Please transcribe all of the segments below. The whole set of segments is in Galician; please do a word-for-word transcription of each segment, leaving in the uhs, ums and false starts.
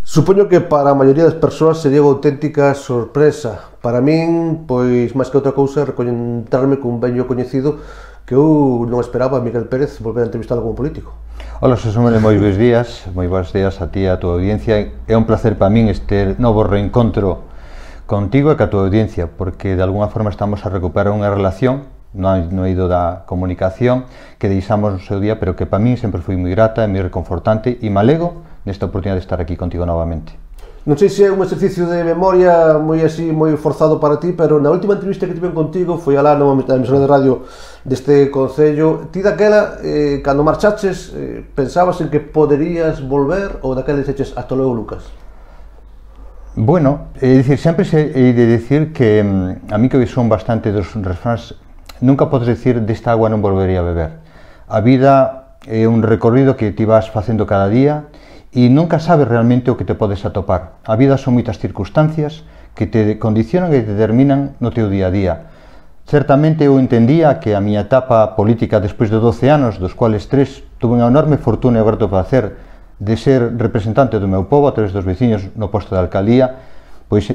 Supoño que para a maioría das persoas sería unha auténtica sorpresa. Para min, pois, máis que outra cousa, reconentarme cun vello coñecido que eu non esperaba a Miguel Pérez volver a entrevistalo como político. Ola, Xosé, moi bons días, moi bons días a ti e a tua audiencia. É un placer para min este novo reencontro contigo e ca tua audiencia, porque de alguna forma estamos a recuperar unha relación no, no eido da comunicación que deixamos no seu día, pero que para min sempre foi moi grata e moi reconfortante, e me alego nesta oportunidade de estar aquí contigo novamente. Non sei se é un exercicio de memoria moi así, moi forzado para ti, pero na última entrevista que tiven contigo foi alá na emisora de radio deste concello. Ti daquela, eh, cando marchaches, eh, pensabas en que poderías volver ou daquela dixeches ata logo, Lucas? Bueno, é dicir, sempre se hei de dicir que a mí que son bastante dos refráns, nunca podes dicir desta agua non volvería a beber. A vida é un recorrido que ti vas facendo cada día e nunca sabes realmente o que te podes atopar. A vida son moitas circunstancias que te condicionan e te determinan no teu día a día. Certamente eu entendía que a miña etapa política despois de doce anos, dos cuales tres tuve unha enorme fortuna e o grato placer de ser representante do meu povo a través dos veciños no posto de alcaldía, pois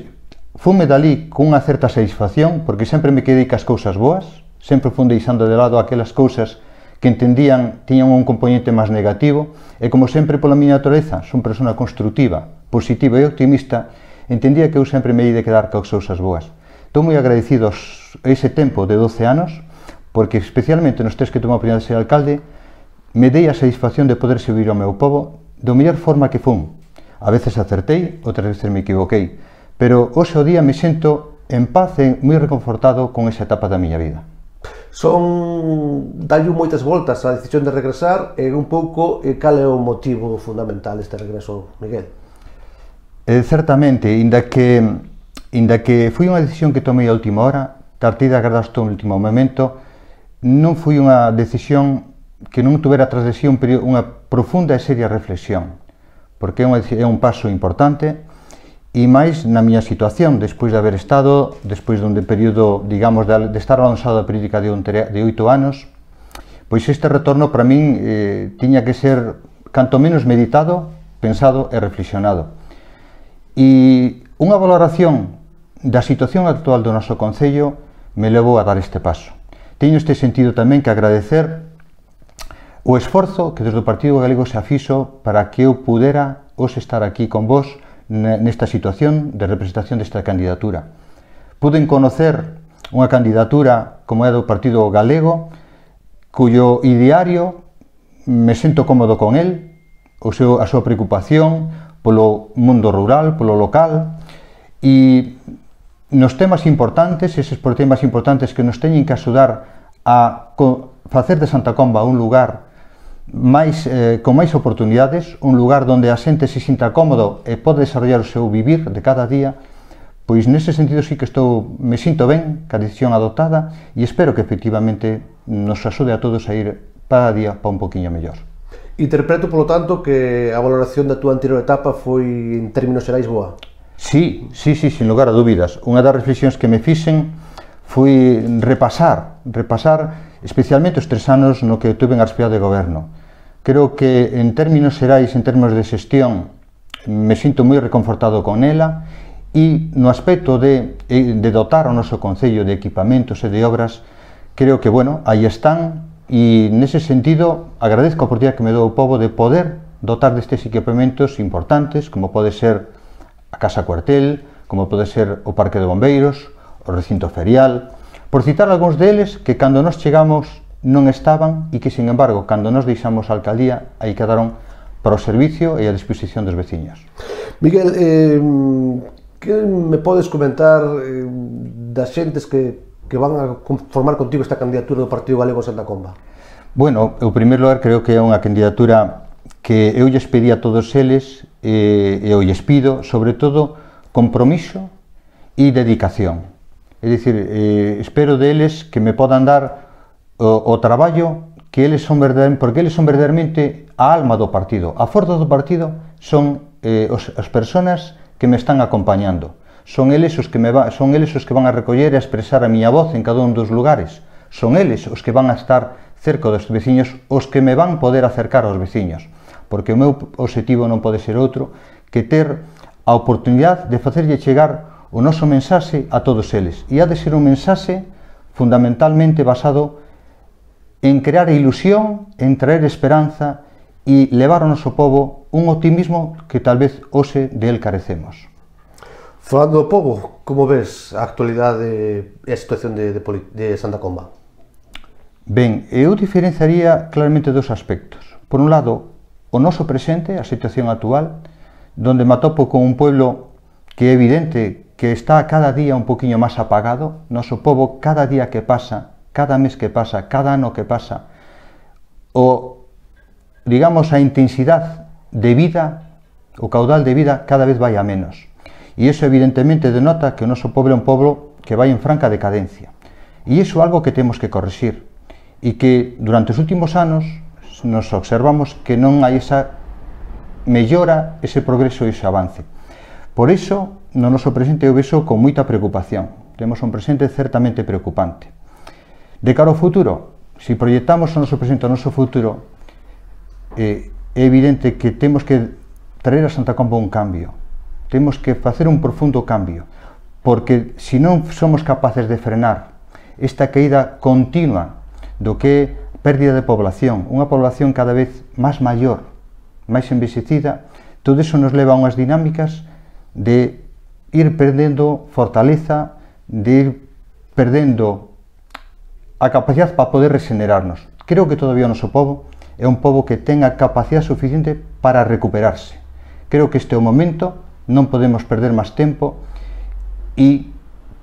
fume dali con unha certa satisfacción, porque sempre me quedei cas cousas boas, sempre fun deixando de lado aquelas cousas que entendían tiñan un componente máis negativo, e como sempre pola miña natureza son persona constructiva, positiva e optimista, entendía que eu sempre me hei de quedar coas cousas boas. Estou moi agradecido a ese tempo de doce anos, porque especialmente nos tres que tomei a oportunidade de ser alcalde, me dei a satisfacción de poder servir ao meu povo da mellor forma que fun. A veces acertei, outras veces me equivoquei, pero hoxe o día me sento en paz e moi reconfortado con esa etapa da miña vida. Son dallo moitas voltas a decisión de regresar e un pouco e cal é o motivo fundamental deste regreso, Miguel? Eh, certamente, inda que, inda que foi unha decisión que tomei a última hora, tartida agardaste o último momento, non foi unha decisión que non tuvera tras de si un período, unha profunda e seria reflexión, porque é, unha, é un paso importante. E máis na miña situación, despois de haber estado, despois dun período, digamos, de, de estar avanzado da política de, de oito anos, pois este retorno para min eh, tiña que ser canto menos meditado, pensado e reflexionado. E unha valoración da situación actual do noso concello me levou a dar este paso. Teño este sentido tamén que agradecer o esforzo que desde o Partido Galego se afixo para que eu pudera hoxe estar aquí con vos nesta situación de representación desta candidatura. Puden conocer unha candidatura como é do Partido Galego, cuyo ideario me sento cómodo con el, o seu, a súa preocupación polo mundo rural, polo local, e nos temas importantes, eses por temas importantes que nos teñen que axudar a facer de Santa Comba un lugar máis, eh, con máis oportunidades, un lugar onde a xente se sinta cómodo e pode desarrollar o seu vivir de cada día, pois nese sentido sí que estou, me sinto ben ca decisión adoptada e espero que efectivamente nos axude a todos a ir cada día para un poquinho mellor. Interpreto, polo tanto, que a valoración da túa anterior etapa foi, en términos xerais, boa? Sí, sí, sí, sin lugar a dúbidas. Unha das reflexións que me fixen foi repasar, repasar especialmente os tres anos no que tuve en a responsabilidade de goberno. Creo que en términos xerais, en términos de xestión, me sinto moi reconfortado con ela, e no aspecto de, de dotar o noso concello de equipamentos e de obras, creo que, bueno, aí están, e nese sentido agradezco a oportunidade que me dou o povo de poder dotar destes equipamentos importantes, como pode ser a Casa Cuartel, como pode ser o Parque de Bombeiros, o recinto ferial, por citar algúns deles que cando nos chegamos non estaban e que, sin embargo, cando nos deixamos a alcaldía, aí quedaron para o servicio e a disposición dos veciños. Miguel, eh, que me podes comentar eh, das xentes que, que van a formar contigo esta candidatura do Partido Galego en Santa Comba? Bueno, en primeiro lugar, creo que é unha candidatura que eu lles pedí a todos eles e eu lles pido, sobre todo, compromiso e dedicación. É dicir, eh, espero deles que me podan dar o, o traballo que eles son verdadeiramente, porque eles son verdadeiramente a alma do partido. A forza do partido son eh, os, as persoas que me están acompañando. Son eles os que me va, son eles os que van a recoller e a expresar a miña voz en cada un dos lugares. Son eles os que van a estar cerca dos veciños, os que me van poder acercar aos veciños. Porque o meu obxectivo non pode ser outro que ter a oportunidade de facerlle chegar o noso mensaxe a todos eles. E ha de ser un mensaxe fundamentalmente basado en crear ilusión, en traer esperanza e levar ao noso povo un optimismo que tal vez hoxe del carecemos. Falando do povo, como ves a actualidade e a situación de, de, de Santa Comba? Ben, eu diferenciaría claramente dos aspectos. Por un lado, o noso presente, a situación actual, donde me atopo con un pueblo que é evidente que está cada día un poquinho máis apagado. Noso povo, cada día que pasa, cada mes que pasa, cada ano que pasa, o, digamos, a intensidade de vida, o caudal de vida cada vez vai a menos. E iso evidentemente denota que o noso povo é un povo que vai en franca decadencia. E iso é algo que temos que corrixir. E que durante os últimos anos nos observamos que non hai esa mellora, ese progreso e ese avance. Por iso, no noso presente eu vexo con moita preocupación. Temos un presente certamente preocupante. De cara ao futuro, se proyectamos o noso presente ao noso futuro, eh, é evidente que temos que traer a Santa Comba un cambio. Temos que facer un profundo cambio, porque se non somos capaces de frenar esta caída continua do que é pérdida de población, unha población cada vez máis maior, máis envexecida, todo iso nos leva a unhas dinámicas de ir perdendo fortaleza, de ir perdendo a capacidade para poder regenerarnos. Creo que todavía o noso povo é un povo que ten a capacidade suficiente para recuperarse. Creo que este é o momento, non podemos perder máis tempo e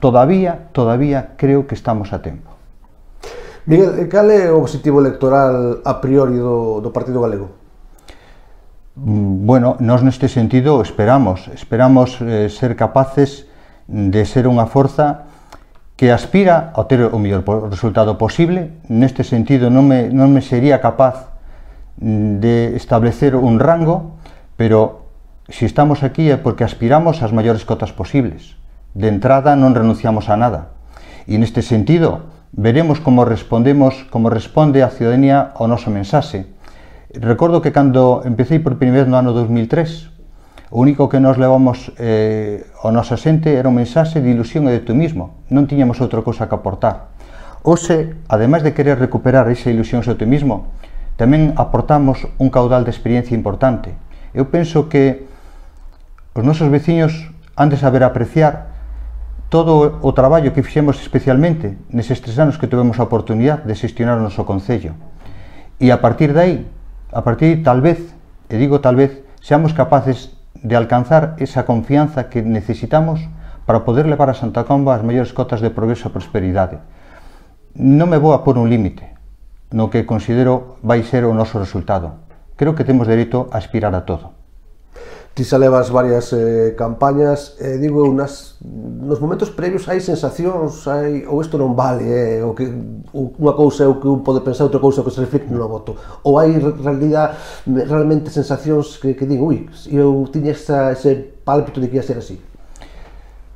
todavía, todavía creo que estamos a tempo. Miguel, cal é o objetivo electoral a priori do, do Partido Galego? Bueno, nós neste sentido esperamos, esperamos eh, ser capaces de ser unha forza que aspira a ter o mellor resultado posible. Neste sentido non me, non me sería capaz de establecer un rango, pero se estamos aquí é porque aspiramos ás maiores cotas posibles. De entrada non renunciamos a nada. E neste sentido veremos como respondemos, como responde a ciudadanía ao noso mensaxe. Recordo que cando empecé por primeira vez no ano dos mil tres, o único que nos levamos eh, ao noso xente era un mensaxe de ilusión e de optimismo. Non tiñamos outra cousa que aportar. Hoxe, ademais de querer recuperar esa ilusión e optimismo, tamén aportamos un caudal de experiencia importante. Eu penso que os nosos veciños han de saber apreciar todo o traballo que fixemos especialmente neses tres anos que tivemos a oportunidade de xestionar o noso concello. E a partir de aí, a partir de tal vez, e digo tal vez, seamos capaces de alcanzar esa confianza que necesitamos para poder levar a Santa Comba as maiores cotas de progreso e prosperidade. Non me vou a pôr un límite no que considero vai ser o noso resultado. Creo que temos dereito a aspirar a todo. Ti xa levas varias eh, campañas, eh, digo, nas, nos momentos previos hai sensacións, hai, ou isto non vale, eh, o que, o, unha cousa é o que un pode pensar, outra cousa é o que se reflicte no voto, ou hai realidade, realmente sensacións que, que digo, ui, eu tiña esa, ese pálpito de que ia ser así.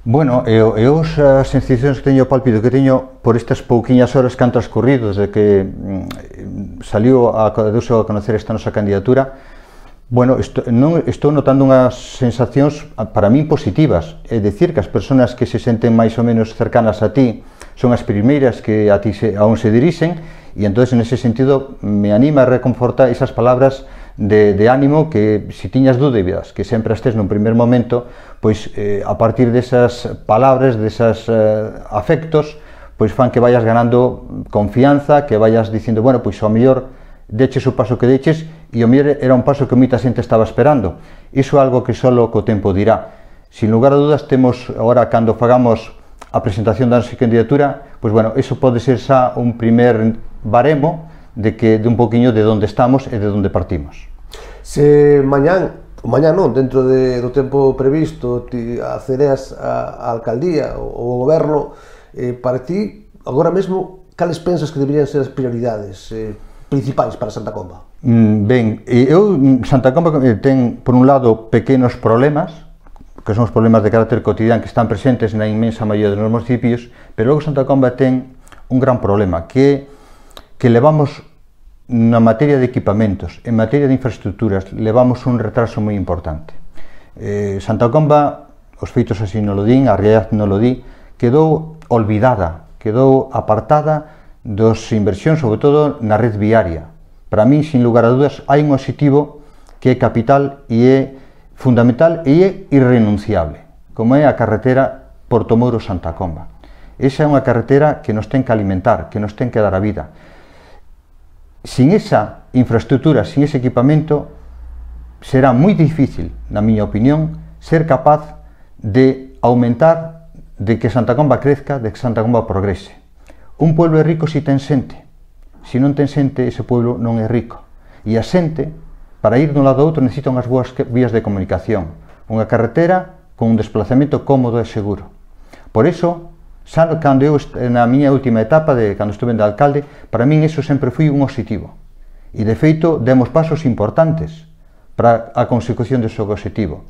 Bueno, eu, eu as sensacións que teño, o pálpito que teño por estas pouquiñas horas que han transcurrido desde que mm, saliu a, deuse a conocer esta nosa candidatura. Bueno, estou, non, estou notando unhas sensacións para min positivas, é dicir, que as persoas que se senten máis ou menos cercanas a ti son as primeiras que a ti se, a un se dirixen, e entón, en ese sentido, me anima a reconfortar esas palabras de, de ánimo que, se tiñas dúbidas, que sempre estés nun primer momento, pois eh, a partir desas palabras, desas eh, afectos, pois fan que vayas ganando confianza, que vayas dicindo, bueno, pois ao mellor deches o paso que deches, e o mellor era un paso que moita xente estaba esperando. Iso é algo que só co tempo dirá. Sin lugar a dudas, temos agora, cando fagamos a presentación da nosa candidatura, pois bueno, iso pode ser xa un primer baremo de que de un poquinho de onde estamos e de onde partimos. Se mañán, mañán non, dentro de, do tempo previsto, ti accedes á alcaldía ou ao goberno, eh, para ti, agora mesmo, cales pensas que deberían ser as prioridades eh, principais para Santa Comba? Mm, ben, eu, Santa Comba ten, por un lado, pequenos problemas, que son os problemas de carácter cotidiano que están presentes na inmensa maioría dos municipios, pero logo Santa Comba ten un gran problema, que que levamos na materia de equipamentos, en materia de infraestructuras, levamos un retraso moi importante. Eh, Santa Comba, os feitos así non lo din, a realidade non lo di, quedou olvidada, quedou apartada dos inversións, sobre todo na red viaria. Para min, sin lugar a dudas, hai un obxectivo que é capital e é fundamental e é irrenunciable, como é a carretera Porto Moro-Santa Comba. Esa é unha carretera que nos ten que alimentar, que nos ten que dar a vida. Sin esa infraestructura, sin ese equipamento, será moi difícil, na miña opinión, ser capaz de aumentar, de que Santa Comba crezca, de que Santa Comba progrese. Un pueblo é rico se ten xente. Se non ten xente, ese pueblo non é rico. E a xente, para ir dun lado a outro, necesita unhas boas vías de comunicación. Unha carretera con un desplazamento cómodo e seguro. Por iso, xa cando eu, na miña última etapa, de cando estuve de alcalde, para min iso sempre foi un obxectivo. E, de feito, demos pasos importantes para a consecución dese objetivo.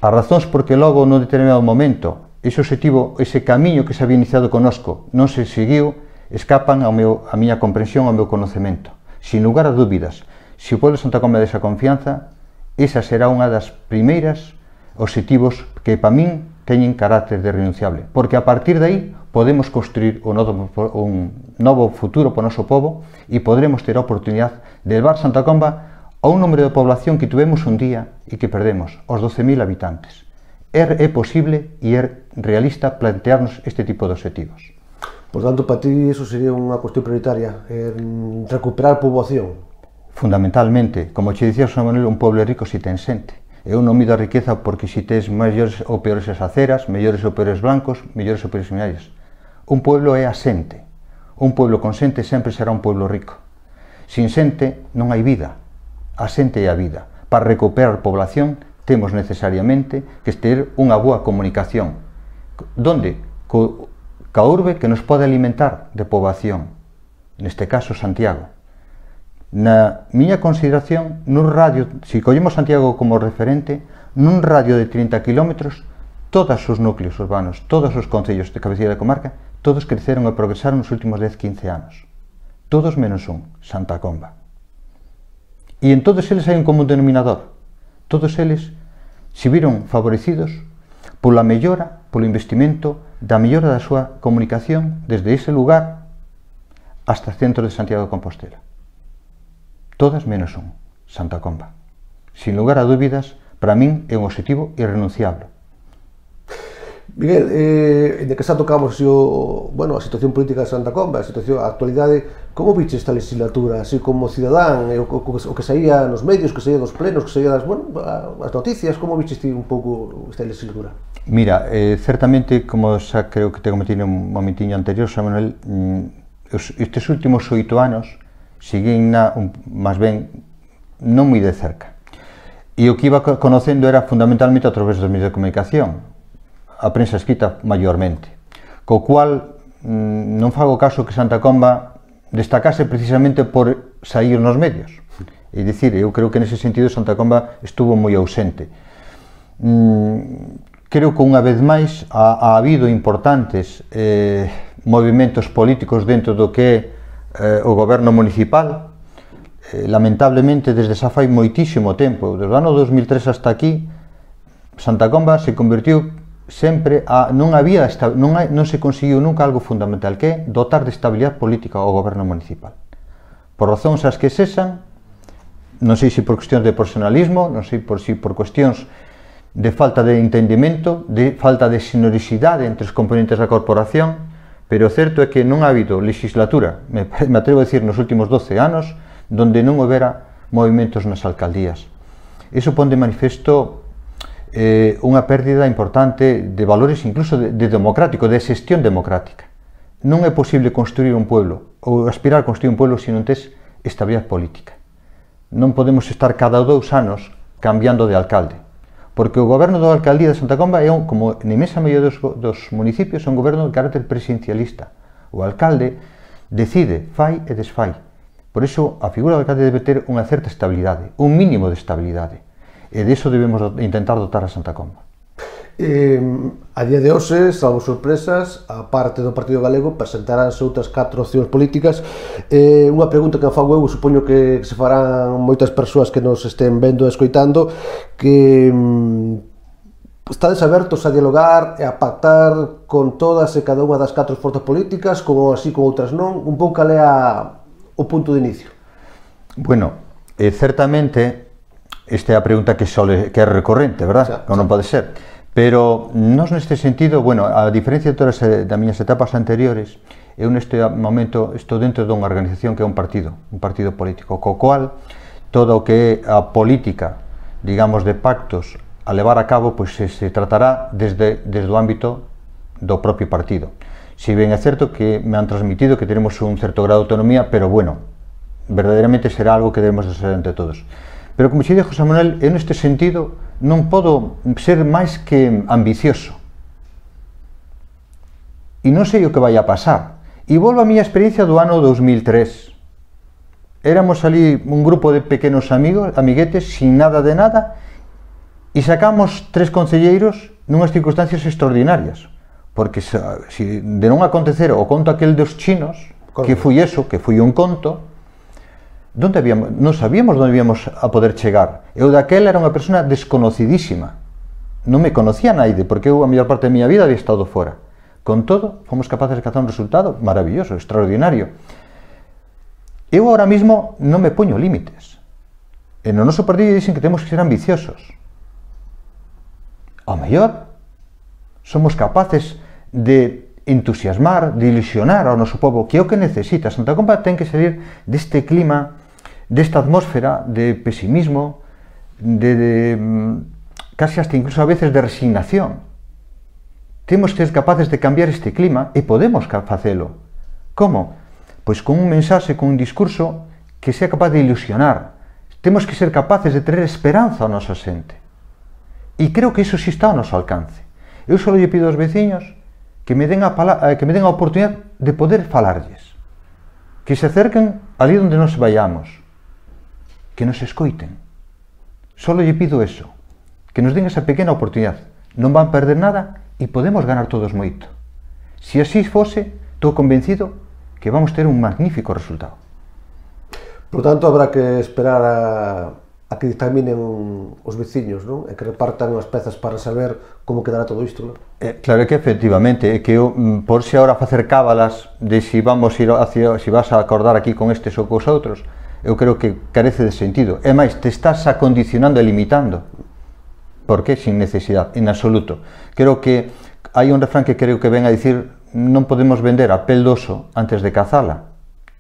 As razóns porque logo, no determinado momento, ese objetivo, ese camiño que se había iniciado conosco, non se seguiu, escapan ao meu, a miña comprensión, ao meu conocemento. Sin lugar a dúbidas, se o pueblo de Santa Comba desa confianza, esa será unha das primeiras obxectivos que, para min, teñen carácter de renunciable, porque a partir de aí podemos construir un novo, un novo futuro para o noso povo e podremos ter a oportunidade de levar Santa Comba a un número de población que tuvemos un día e que perdemos, os doce mil habitantes. É, é posible e é realista plantearnos este tipo de objetivos. Por tanto, para ti, eso sería unha cuestión prioritaria, eh, recuperar poboación. Fundamentalmente, como che dicía José Manuel, un pueblo rico se ten xente. Eu non mido a riqueza porque se tes mellores ou peores as aceras, mellores ou peores blancos, mellores ou peores seminarios. Un pueblo é a xente. Un pueblo con xente sempre será un pueblo rico. Sin xente non hai vida. A xente é a vida. Para recuperar población temos necesariamente que ter unha boa comunicación. Donde? Co, ca urbe que nos pode alimentar de poboación. Neste caso, Santiago. Na miña consideración, nun radio, se collemos Santiago como referente, nun radio de trinta kilómetros, todos os núcleos urbanos, todos os concellos de cabeceira de comarca, todos creceron e progresaron nos últimos dez a quince anos. Todos menos un, Santa Comba. E en todos eles hai un común denominador. Todos eles se viron favorecidos pola mellora, polo investimento da mellora da súa comunicación desde ese lugar hasta o centro de Santiago de Compostela. Todas menos un, Santa Comba. Sin lugar a dúbidas, para min é un objetivo irrenunciable. Miguel, eh, de que xa tocamos así, o, bueno, a situación política de Santa Comba, a situación, a actualidade, como viche esta legislatura, así como cidadán, o, o, o que saía nos medios, que saía dos plenos, que saía das, bueno, as noticias, como viche un pouco esta legislatura? Mira, eh, certamente, como xa creo que te cometí un momentiño anterior, José Manuel, mm, estes últimos oito anos seguín na, un, máis ben, non moi de cerca. E o que iba conocendo era fundamentalmente a través dos medios de comunicación, a prensa escrita maiormente, co cual mmm, non fago caso que Santa Comba destacase precisamente por sair nos medios. É dicir, eu creo que nese sentido Santa Comba estuvo moi ausente. Mm, creo que unha vez máis ha, ha habido importantes eh, movimentos políticos dentro do que é Eh, o goberno municipal. Eh, lamentablemente, desde xa fai moitísimo tempo, desde o ano dos mil tres hasta aquí, Santa Comba se convertiu sempre a... non había, non, non se conseguiu nunca algo fundamental, que é dotar de estabilidade política ao goberno municipal. Por razóns as que sexan, non sei se por cuestións de personalismo, non sei por si por cuestións de falta de entendimento, de falta de sinoricidade entre os componentes da corporación, pero o certo é que non ha habido legislatura, me, me atrevo a decir, nos últimos doce anos, donde non houbera movimentos nas alcaldías. Iso pon de manifesto eh, unha pérdida importante de valores incluso de, de democrático, de xestión democrática. Non é posible construir un pueblo, ou aspirar a construir un pueblo se non tes estabilidade política. Non podemos estar cada dous anos cambiando de alcalde, porque o goberno da alcaldía de Santa Comba é, un, como na imensa maioría dos, dos municipios, é un goberno de carácter presidencialista. O alcalde decide, fai e desfai. Por iso, a figura do alcalde debe ter unha certa estabilidade, un mínimo de estabilidade. E de iso debemos intentar dotar a Santa Comba. Eh, a día de hoxe, salvo sorpresas, a parte do Partido Galego presentaránse outras catro opcións políticas. Eh, unha pregunta que me fago eu, supoño que se farán moitas persoas que nos estén vendo e escoitando, que mm, estades abertos a dialogar e a pactar con todas e cada unha das catro forzas políticas, como así con outras non? Un pouco cal é a, o punto de inicio? Bueno, eh, certamente esta é a pregunta que, sole, que é recorrente, verdad? Xa, Como non pode ser. Pero nos neste sentido, bueno, a diferencia de todas as miñas etapas anteriores, eu neste momento estou dentro dunha organización que é un partido, un partido político, co cual todo o que é a política, digamos, de pactos a levar a cabo, pois se, se tratará desde, desde o ámbito do propio partido. Si ben é certo que me han transmitido que tenemos un certo grado de autonomía, pero bueno, verdadeiramente será algo que debemos de ser entre todos. Pero como xe dixo José Manuel, eu neste sentido non podo ser máis que ambicioso. E non sei o que vai a pasar. E volvo a miña experiencia do ano dos mil tres. Éramos ali un grupo de pequenos amigos, amiguetes, sin nada de nada, e sacamos tres concelleiros nunhas circunstancias extraordinarias. Porque se, se de non acontecer o conto aquel dos chinos, Corre. que foi eso, que foi un conto, Donde habíamos, non sabíamos onde íbamos a poder chegar. Eu daquela era unha persona desconocidísima. Non me conocía naide, porque eu a maior parte da miña vida había estado fora. Con todo, fomos capaces de alcanzar un resultado maravilloso, extraordinario. Eu ahora mismo non me poño límites. E no noso partido dicen que temos que ser ambiciosos. Ao mellor, somos capaces de entusiasmar, de ilusionar ao noso povo, que é o que necesita. Santa Comba ten que salir deste clima, desta atmósfera de pesimismo, de, de casi hasta incluso a veces de resignación. Temos que ser capaces de cambiar este clima e podemos facelo. Como? Pois con un mensaxe, con un discurso que sea capaz de ilusionar. Temos que ser capaces de tener esperanza ao nosa xente. E creo que iso sí está ao noso alcance. Eu só lle pido aos veciños que me den a, que me den a oportunidade de poder falarlles. Que se acerquen ali onde nos vayamos. Que nos escoiten. Só lle pido eso. Que nos den esa pequena oportunidade. Non van perder nada e podemos ganar todos moito. Se así fose, estou convencido que vamos ter un magnífico resultado. Por tanto, habrá que esperar a, a que dictaminen os veciños, non? E que repartan as pezas para saber como quedará todo isto, non? Eh, claro que efectivamente, é que eu, por se agora facer cábalas de si vamos ir hacia, si vas a acordar aquí con estes ou cos outros, eu creo que carece de sentido. É máis, te estás acondicionando e limitando. Por que? Sin necesidade, en absoluto. Creo que hai un refrán que creo que ven a dicir non podemos vender a pel do oso antes de cazala.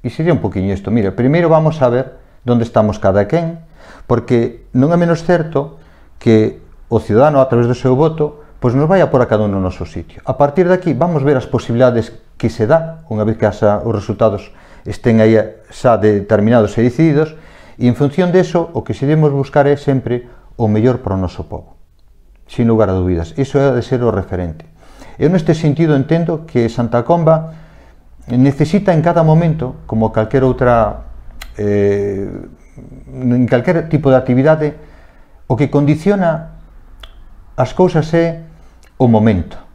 E sería un poquinho isto. Mira, primeiro vamos a ver onde estamos cada quen, porque non é menos certo que o cidadano, a través do seu voto, pois nos vai a por a cada un no noso sitio. A partir de aquí vamos ver as posibilidades que se dá, unha vez que asa, os resultados estén aí xa determinados e decididos, e en función deso, o que se debemos buscar é sempre o mellor para o noso povo. Sin lugar a dúbidas. Iso é de ser o referente. Eu neste sentido entendo que Santa Comba necesita en cada momento, como calquer outra, eh, en calquer tipo de actividade, o que condiciona as cousas é o momento.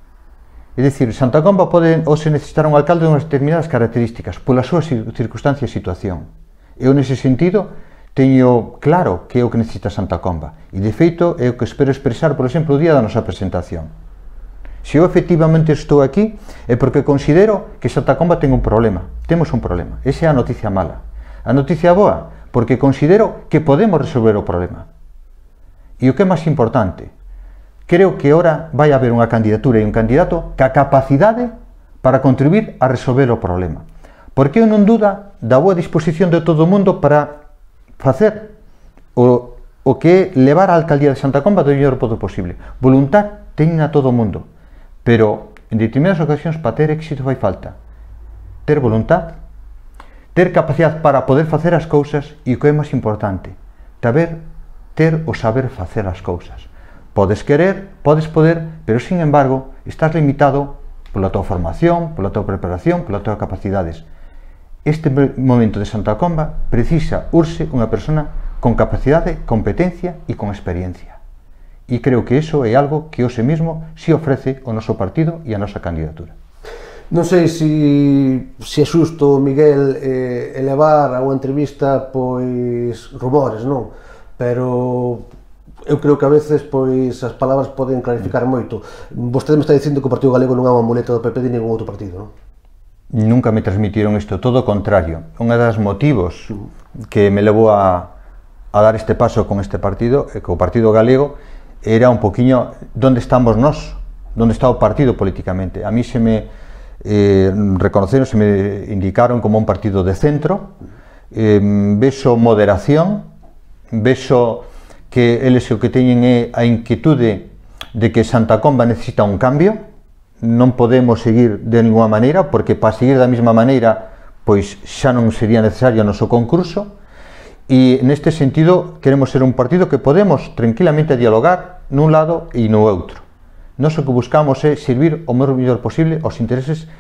É dicir, Santa Comba pode ou se necesitar un alcalde de unhas determinadas características pola súa circunstancia e situación. Eu nese sentido teño claro que é o que necesita Santa Comba e de feito é o que espero expresar, por exemplo, o día da nosa presentación. Se eu efectivamente estou aquí é porque considero que Santa Comba ten un problema, temos un problema, esa é a noticia mala. A noticia boa, porque considero que podemos resolver o problema. E o que é máis importante, creo que ora vai haber unha candidatura e un candidato ca capacidade para contribuir a resolver o problema. Porque eu non duda da boa disposición de todo o mundo para facer o, o que é levar a alcaldía de Santa Comba do mellor podo posible. Voluntad teñen a todo o mundo, pero en determinadas ocasións para ter éxito fai falta ter voluntad, ter capacidade para poder facer as cousas e o que é máis importante, saber ter o saber facer as cousas. Podes querer, podes poder, pero sin embargo estás limitado pola tua formación, pola tua preparación, polas túas capacidades. Este momento de Santa Comba precisa, urxe, unha persona con capacidade, competencia e con experiencia. e creo que iso é algo que hoxe mesmo se ofrece o noso partido e a nosa candidatura. Non sei se, se é xusto, Miguel, eh, elevar a unha entrevista pois rumores, non? Pero eu creo que a veces pois as palabras poden clarificar moito. Vostede me está dicindo que o Partido Galego non é unha muleta do P P de ningún outro partido, non? Nunca me transmitiron isto, todo o contrario. Un dos motivos que me levou a, a dar este paso con este partido, que o Partido Galego, era un poquinho onde estamos nós, onde está o partido políticamente. A mí se me eh, reconoceron, se me indicaron como un partido de centro, eh, vexo moderación, vexo que eles o que teñen é a inquietude de que Santa Comba necesita un cambio, non podemos seguir de ninguna maneira, porque para seguir da mesma maneira pois xa non sería necesario o noso concurso, e neste sentido queremos ser un partido que podemos tranquilamente dialogar nun lado e no outro. Nós o que buscamos é servir o mellor posible aos intereses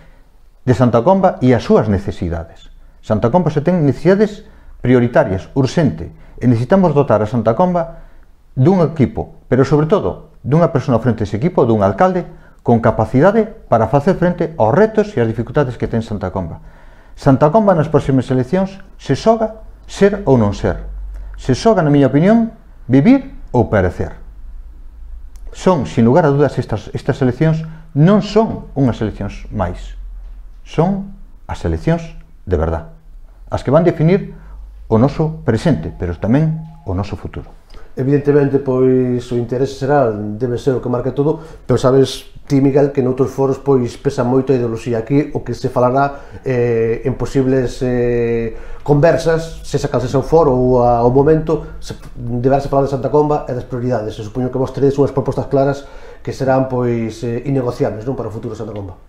de Santa Comba e as súas necesidades. Santa Comba se ten necesidades prioritarias, urxente, e necesitamos dotar a Santa Comba dun equipo, pero sobre todo dunha persona frente a ese equipo, dun alcalde con capacidade para facer frente aos retos e as dificultades que ten Santa Comba. Santa Comba nas próximas eleccións se xoga ser ou non ser. Se xoga, na miña opinión, vivir ou perecer. Son, sin lugar a dudas, estas, estas eleccións non son unhas eleccións máis. Son as eleccións de verdad. As que van definir o noso presente, pero tamén o noso futuro. Evidentemente, pois, o interese xeral debe ser o que marca todo, pero sabes ti, Miguel, que noutros foros pois pesa moito a ideoloxía. Aquí o que se falará eh, en posibles eh, conversas, se saca o foro ou ao momento, se, deberase falar de Santa Comba e das prioridades. Se supoño que vos teredes unhas propostas claras que serán pois eh, innegociables, non, para o futuro de Santa Comba.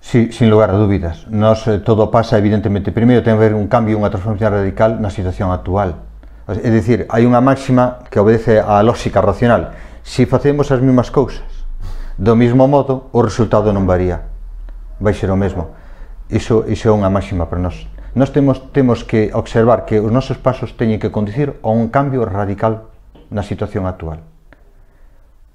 Sí, sin lugar a dúbidas. Nos, eh, todo pasa, evidentemente, primeiro ten que haber un cambio, unha transformación radical na situación actual. É dicir, hai unha máxima que obedece á lógica racional. Se facemos as mesmas cousas do mesmo modo, o resultado non varía, vai ser o mesmo. Iso, iso é unha máxima para nós. Nós temos, temos que observar que os nosos pasos teñen que conducir a un cambio radical na situación actual.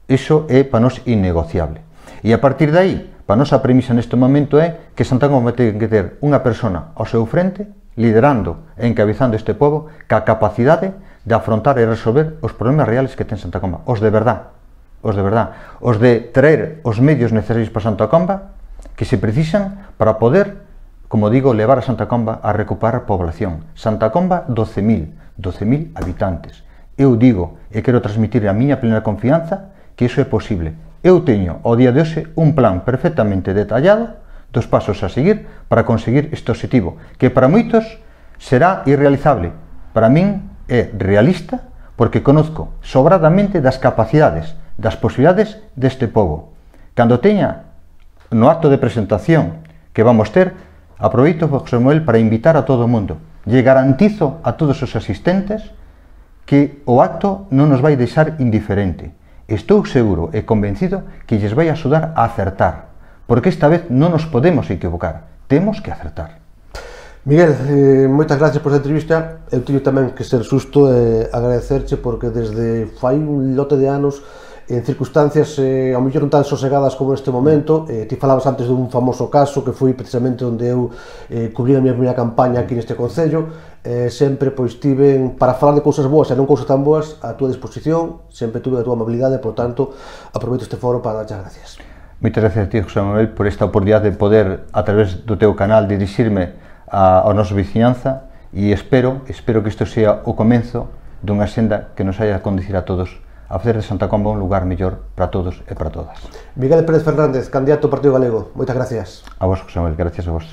Iso é para nós innegociable. E a partir de aí, para a nosa premisa neste momento é que Santa Comba ten que ter unha persona ao seu frente, liderando e encabezando este pobo, ca capacidade de afrontar e resolver os problemas reales que ten Santa Comba, os de verdad, os de verdad, os de traer os medios necesarios para Santa Comba que se precisan para poder, como digo, levar a Santa Comba a recuperar población. Santa Comba, doce mil habitantes. Eu digo e quero transmitir a miña plena confianza que iso é posible. Eu teño, ao día de hoxe, un plan perfectamente detallado dos pasos a seguir para conseguir este objetivo, que para moitos será irrealizable. Para min é realista, porque conozco sobradamente das capacidades, das posibilidades deste pobo. Cando teña no acto de presentación que vamos ter, aproveito, José Manuel, para invitar a todo o mundo. Lle garantizo a todos os asistentes que o acto non nos vai deixar indiferente. Estou seguro e convencido que lles vai axudar a acertar, porque esta vez non nos podemos equivocar, temos que acertar. Miguel, eh, moitas gracias por esta entrevista. Eu teño tamén que ser xusto e eh, agradecerche porque desde fai un lote de anos, en circunstancias eh, ao mellor non tan sosegadas como neste momento, eh, ti falabas antes dun famoso caso que foi precisamente onde eu eh, cubrí a miña primeira campaña aquí neste concello, eh, sempre pois tiven, para falar de cousas boas e non cousas tan boas, a túa disposición, sempre tuve a túa amabilidade, por tanto, aproveito este foro para darche as gracias. Moitas gracias a ti, José Manuel, por esta oportunidade de poder, a través do teu canal, dirixirme a, a nosa vizinhanza e espero, espero que isto sea o comenzo dunha senda que nos haya a conducir a todos a facer de Santa Comba un lugar mellor para todos e para todas. Miguel Pérez Fernández, candidato ao Partido Galego, moitas gracias. A vos, José Manuel, gracias a vos.